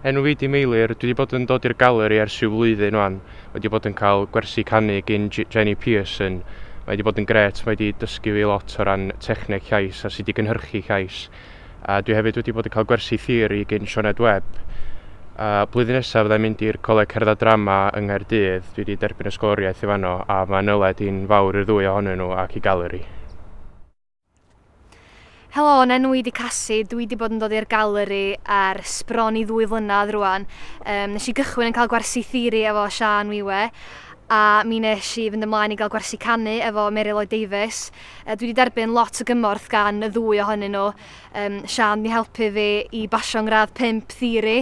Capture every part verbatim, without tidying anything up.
Enw fi 'di Meilir, dwi wedi bod yn dod i'r galeri ers rhyw flwyddyn wan. Wedi bod yn cael gwersi canu gyn Jenny Pearson. Mae wedi bod yn grêt, mae wedi dysgu fi lot o ran techneg llais a sut i gynhyrchu llais. A dwi hefyd wedi bod yn cael gwersi theori gyn Sioned Webb. A blwyddyn nesaf fyddai'n mynd i'r Coleg Cerdd a Drama yng Nghaerdydd. Dwi wedi derbyn ysgoloriaeth i fanno a mae nyled i'n fawr i'r ddwy ohonyn nhw ac i galeri. Helo, yn enw i 'di Cassie. Dwi wedi bod yn dod i'r galeri ers bron i ddwy flynedd rwan. Um, nes i gychwyn yn cael gwersi theori efo Sian Wiwe a mi nes i fynd ymlaen i gael gwersi canu efo Mary Lloyd Davies. Uh, dwi wedi derbyn lot o gymorth gan y ddwy ohonyn nhw. Um, Sian 'di helpu fi i basio ngradd pump theori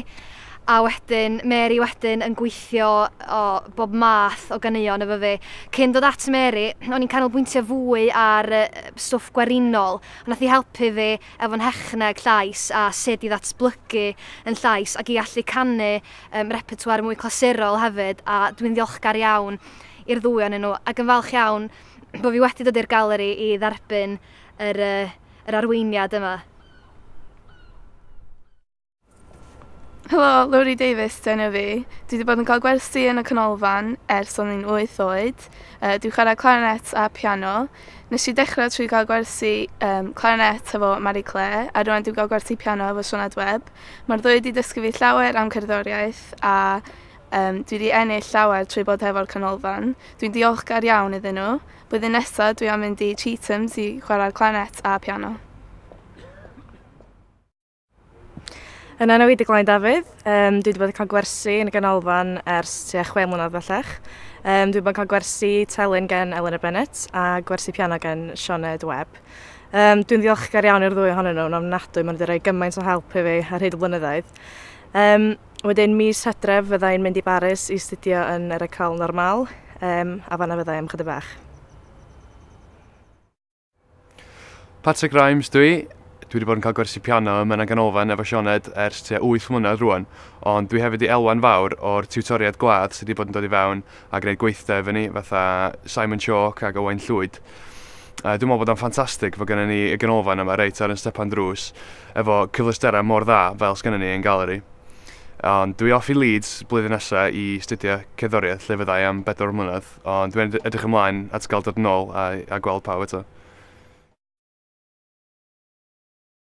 a wedyn Mary wedyn yn gweithio o bob math o ganeuon efo fi. Cyn dod at Mary, o'n i'n canolbwyntio fwy ar stwff gwerinol. Nath hi helpu fi efo'n nhechneg llais a sut i ddatblygu yn llais ac i allu canu um, repertoire mwy clasurol hefyd, a dwi'n ddiolchgar iawn i'r ddwy ohonyn nhw ac yn falch iawn bod fi wedi dod i'r galeri i dderbyn yr, yr arweiniad yma. Helo, Lowri Davies dyna fi. Dwi wedi bod yn cael gwersi yn y canolfan ers o'n i'n wyth oed. Uh, dwi'n chwarae clarinet a piano. Nes i dechrau trwy gael gwersi um, clarinet efo Marie Claire a rwan dwi'n cael gwersi piano efo Sioned Webb. Mae'r ddwy wedi dysgu fi llawer am cerddoriaeth a um, dwi wedi ennill llawer trwy bod hefo'r canolfan. Dwi'n diolchgar iawn iddyn nhw. Blwyddyn nesaf dwi am mynd i Chetham's i chwarae'r clarinet a piano. Yn enw i 'di Glain Dafydd, um, dwi wedi bod yn cael gwersi yn y ganolfan ers tua chwe mlynedd bellach. Um, dwi wedi bod yn cael gwersi telyn gen Eleanor Bennett a gwersi piano gen Sioned Webb. Um, dwi'n ddiolchgar iawn i'r ddwy ohonyn nhw, yn ofnadwy, maen nhw wedi rhoi gymaint o help i fi ar hyd y blynyddoedd. Um, wedyn mis Hydref fyddai'n mynd i Baris i astudio yn yr École Normale, um, a fanna fyddai am chydig bach. Patrick Rimes dwi. Dwi wedi bod yn cael gwersi piano yma yn y ganolfan efo Sioned ers tua wyth mlynedd rwan, ond dwi hefyd i elwa'n fawr o'r tiwtoriaid gwadd sydd wedi bod yn dod i fewn a gwneud gweithdai efo ni, fatha Simon Chalk ac Owain Llwyd. Uh, dwi'n meddwl bod o'n ffantastig fod gennym ni y ganolfan yma reit ar yn stepan drws efo cyfleusterau mor dda fel sgynnon ni yn galeri. Ond dwi off i Leeds blwyddyn nesaf i astudio cerddoriaeth lle fyddai am bedwar mlynedd, ond dwi'n edrych ymlaen at gael dod yn ôl a, a gweld pawb eto.